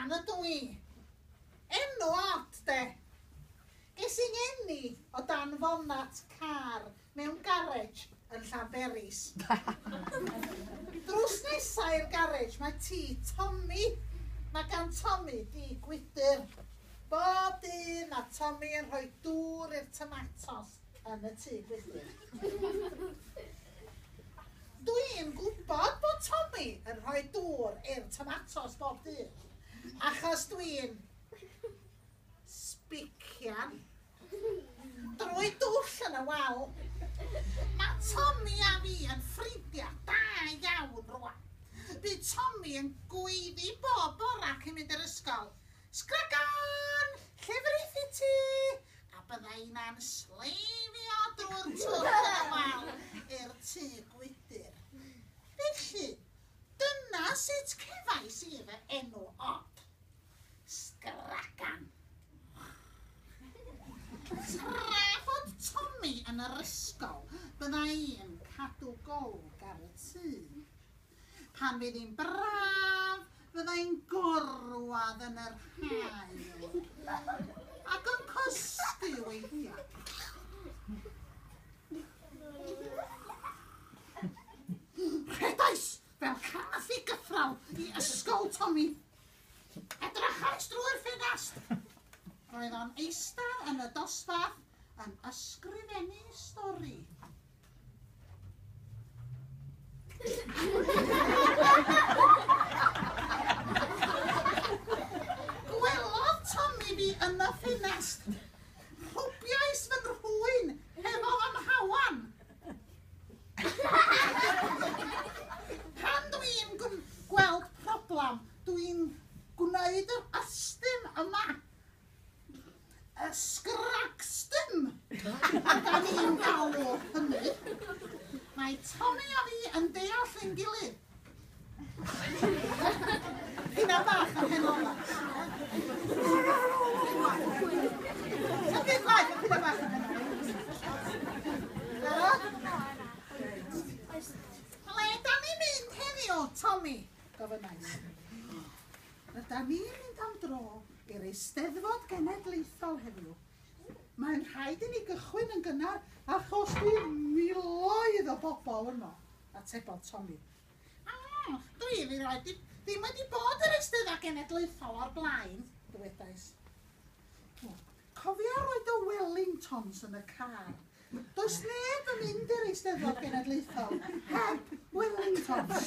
Sgragan ydw i. Enw od, de. Ges i ngeni o dan fonat car mewn garej yn Llanberis. Drws nesa i'r garej mae tŷ Tommy. Mae gan Tommy dŷ gwydr. Bob dydd mae Tommy yn rhoi dŵr i'r tomatos yn y tŷ gwydr. Dwi'n gwybod bod Tommy yn rhoi dŵr i'r tomatos bob dydd, achos dwi'n sbician drwy dwll yn y wal. Mae Tommy a fi yn ffrindiau da iawn rwan. Bydd Tommy yn gweiddi bob bora cyn mynd i'r ysgol. Sgragan! Llefrith i ti! A bydda inna'n sleifio drwy'r twll yn y wal i'r tŷ gwydr. Felly, dyna sut cefais i fy enw od. Sgragan. Tra fod Tommy yn yr ysgol, bydda i'n cadw golwg ar y tŷ. Pan fydd hi'n braf, fydda i'n gorwedd yn yr haul ac yn cysgu weithiau. Rhedais fel cath i gythral i ysgol Tommy. Edrychais drwy'r ffenest. Roedd o'n eistedd yn y dosbarth yn ysgrifennu stori. Gwelodd Tommy fi yn y ffenest. Rhwbiais fy nhrwyn hefo fy mhawan. Pan dwi'n gweld problem, dwi'n gwneud yr ystum yma. Y sgragstum! A da ni'n galw hynny. Mae Tommy a fi yn deall ein gilydd. Hynna bach yn hen ola. Symud gwaith, hynna bach yn hen ola. Ble da ni'n mynd heddiw, Tommy? Gofynnais. Rydan ni'n mynd am dro i'r Eisteddfod Genedlaethol heddiw. Mae'n rhaid i ni gychwyn yn gynnar achos bydd miloedd o bobl yno, atebodd Tommy. O, dwi erioed ddim wedi bod i'r Eisteddfod Genedlaethol o'r blaen, dywedais. Cofia roi dy Wellingtons yn y car. Does neb yn mynd i'r Eisteddfod Genedlaethol heb Wellingtons.